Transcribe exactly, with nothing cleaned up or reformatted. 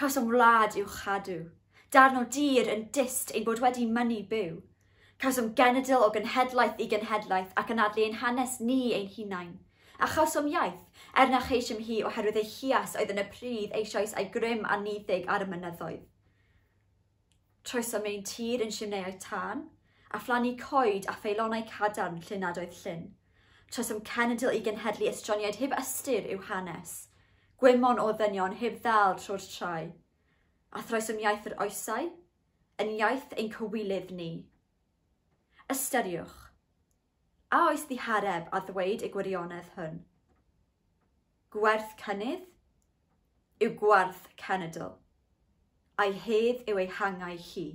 Cawsom wlad i'w chadw, darn o dir yn dyst ein bod wedi mynnu byw. Cawsom genedl o genhedlaeth i genhedlaeth ac anadlu ein hanes ni ein hunain. A chawsom iaith, er na cheisiom hi oherwydd ei hias oedd yn y pridd eisoes a'i grym anniddig ar y mynyddoedd. Troesom ein tir yn simneiau tân, a phlannu coed a pheilonau cadarn lle nad oedd llyn. Troesom cenedl i genhedlu estroniaid heb ystyr i'w hanes, gwymon o ddynion heb ddal trwy'r trai. A throesom iaith yr oesau, yn iaith ein cywilydd ni. Ystyriwch, a oes ddihareb a ddweud y gwirionedd hwn? Gwerth cynnydd yw gwerth cenedl, a'i hedd yw ei hangau hi.